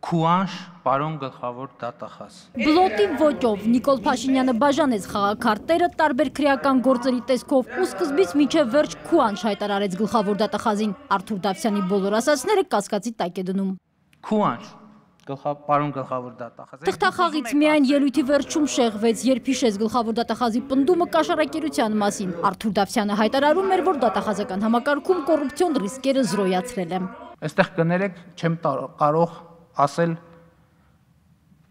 Քուանշ, պարոն գլխավոր դատախազ։ Բլոտի ոճով Նիկոլ Փաշինյանը բաժանեց խաղաքարտերը տարբեր քրեական գործերի տեսքով ու սկզբից մինչև վերջ քուանշ հայտարարեց գլխավոր դատախազին։ Արթուր Դավթյանի բոլոր ասածները կասկածի տակ է դնում։ Քուանշ, պարոն գլխավոր դատախազ։ Թղթախաղից միայն ելույթի վերջում շեղվեց, երբ հիշեց գլխավոր դատախազի պնդումը կաշառակերության մասին։ Արթուր Դավթյանը հայտարարում էր, որ դատախազական համակարգում կոռուպցիոն ռիսկերը զրոյացրել է։ Այստեղ կներեք, չեմ կարող ասել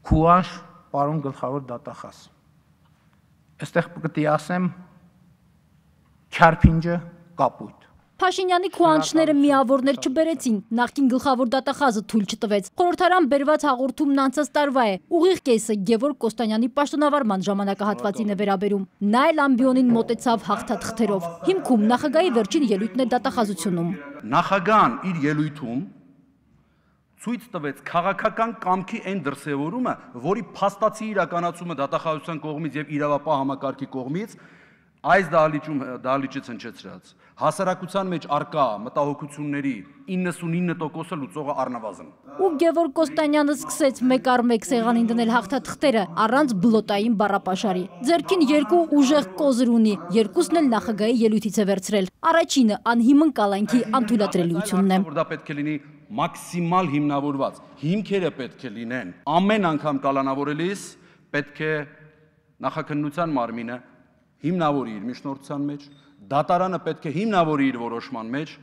քուանշ, պարոն գլխավոր դատախազ։ Այստեղ պետք է ասեմ չարփինջը կապույտ։ Փաշինյանի քուանշները միավորներ չբերեցին, նախկին գլխավոր դատախազը թույլ չտվեց։ Խորհրդարան բերված հաղորդումն անցած տարվա է։ Ուղիղ կեսը Գևորգ Կոստանյանի պաշտոնավարման ժամանակահատվածին է վերաբերում։ Նա էլ ամբիոնին մոտեցավ հաղթաթղթերով։ Հիմքում նախագահի վերջին ելույթն է դատախազությունում։ Նախագահան իր ելույթում ցույց տվեց քաղաքական կամքի այն դրսևորումը, որի փաստացի իրականացումը դատախազության կողմից եւ իրավապահ համակարգի կողմից այս դահլիճից հնչեցրած հասարակության մեջ արկա մտահոգությունների 99%-ը լուծողը առնվազն։ Ու Գևորգ Կոստանյանը սկսեց մեկ առ մեկ սեղանին դնել հաղթաթղթերը առանց բլոտային բառապաշարի։ Ձեռքին երկու ուժեղ կոզր ունի, երկուսն էլ նախագահի ելույթից է վերցրել։ Առաջինը անհիմն կալանքի անթույլատրելիությունն է։ Որ դա պետք է լինի մաքսիմալ հիմնավորված, հիմքերը պետք է լինեն։ Ամեն անգամ կալանավորելիս պետք է նախաքննության մարմինը հիմնավորի իր միջնորդության մեջ, դատարանը պետք է հիմնավորի իր որոշման մեջ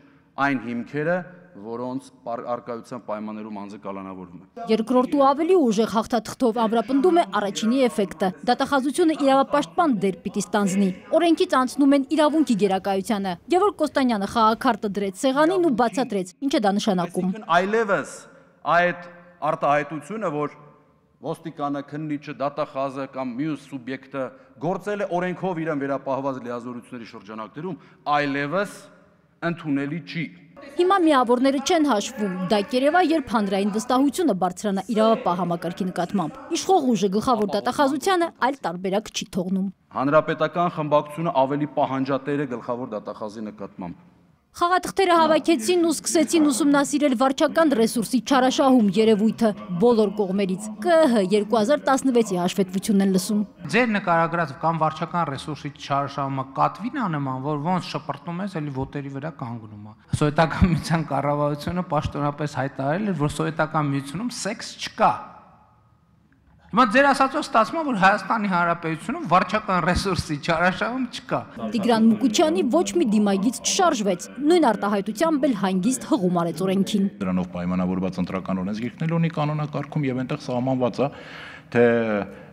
այն հիմքերը, որոնց արկայության պայմաններում անձը կալանավորվում է։ Երկրորդու ավելի ուժեղ հաղթաթղթով ամրապնդում է առաջինի էֆեկտը։ Դատախազությունը իրավապաշտպան դեր պիտի ստանձնի։ Օրենքից անցնում են իրավունքի գերակայությանը։ Գևորգ Կոստանյանը խաղաքարտը դրեց սեղանին ու բացատրեց, ինչ է դա նշանակում։ Այլևս այդ արտահայտությունը, որ ոստիկանը, քննիչը, դատախազը կամ մյուս սուբյեկտը գործել է օրենքով իրեն վերապահված լիազորությունների շրջանակներում, այլևս ընդունելի չի։ Հիմա միավորները չեն հաշվում, դա կերևա, երբ հանրային վստահությունը բարձրանա իրավապահ համակարգի նկատմամբ։ Իշխող ուժը գլխավոր դատախազությանը այլ տարբերակ չի թողնում։ Հանրապետական խմբակցությունը ավելի պահանջատեր է գլխավոր դատախազի նկատմամբ։ Խաղաթղթերը հավաքեցին ու սկսեցին ուսումնասիրել վարչական ռեսուրսի չարաշահում երևույթը բոլոր կողմերից։ ԿԸՀ 2016-ի հաշվետվությունն են լսում։ Ձեր նկարագրած կամ վարչական ռեսուրսի չարաշահումը կատվին անման, որ ոնց շպրտում ես, էլի ոտերի վրա կանգնում է։ Սովետական միության կառավարությունը պաշտոնապես հայտարարել էր, որ սովետական միությունում սեքս չկա։ Հիմա ձեր ասածով ստացվում է, որ Հայաստանի Հանրապետությունում վարչական ռեսուրսի չարաշահում չկա։ Տիգրան Մուկուչյանի ոչ մի դիմագիծ չշարժվեց, նույն արտահայտությամբ էլ հանգիստ հղում արեց օրենքին։ Դրանով պայմանավորված ընտրական օրենսգիրքն էլ ունի կանոնակարգում եւ այնտեղ սահմանված է, թե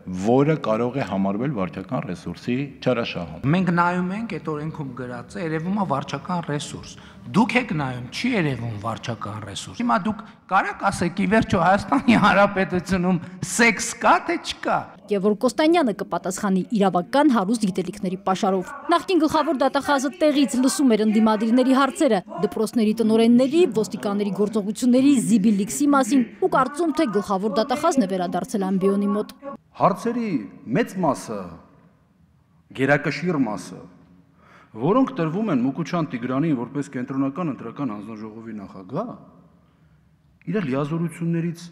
որը կարող է համարվել վարչական ռեսուրսի չարաշահում։ Մենք նայում ենք այդ օրենքում գրած է, երևում է վարչական ռեսուրս։ Դուք եք նայում, չի երևում վարչական ռեսուրս։ Հիմա դուք կարաք ասեք, ի վերջո Հայաստանի Հանրապետությունում սեքս կա թե չկա։ Գևորգ Կոստանյանը կպատասխանի իրավական հարուստ գիտելիքների պաշարով։ Նախկին գլխավոր դատախազը տեղից լսում էր ընդդիմադիրների հարցերը, դպրոցների տնօրենների, ոստիկանների գործողությունների, Զիբիլիքսի մասին ու կարծում թե գլխավոր դատախազն է վերադարձել ամբիոնի մոտ։ Հարցերի մեծ մասը, գերակշիռ մասը, որոնք տրվում են Մուկուչյան Տիգրանին որպես կենտրոնական ընտրական հանձնաժողովի նախագահ, իր լիազորություններից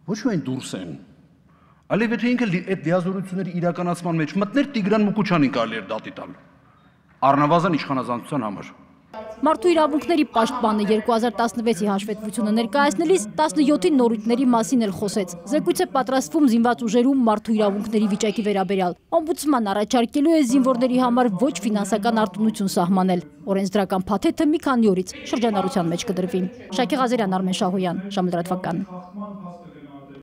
ոչ միայն դուրս են, այլև եթե ինքը այդ լիազորությունների իրականացման մեջ մտներ, Տիգրան Մուկուչյանին կարելի էր դատի տալ, առնվազն իշխանազանցության համար։ Մարդու իրավունքների պաշտպանը 2016-ի հաշվետվությունը ներկայացնելիս 17-ի նորույթների մասին էլ խոսեց։ Զեկույց է պատրաստվում զինված ուժերում մարդու իրավունքների վիճակի վերաբերյալ։ Օմբուդսման առաջարկելու է զինվորների համար ոչ ֆինանսական արտոնություն սահմանել։ Օրենսդրական փաթեթը մի քանի օրից շրջանառության մեջ կդրվի։ Շակե Ղազարյան, Արմեն Շահոյան, Ժամը լրատվական։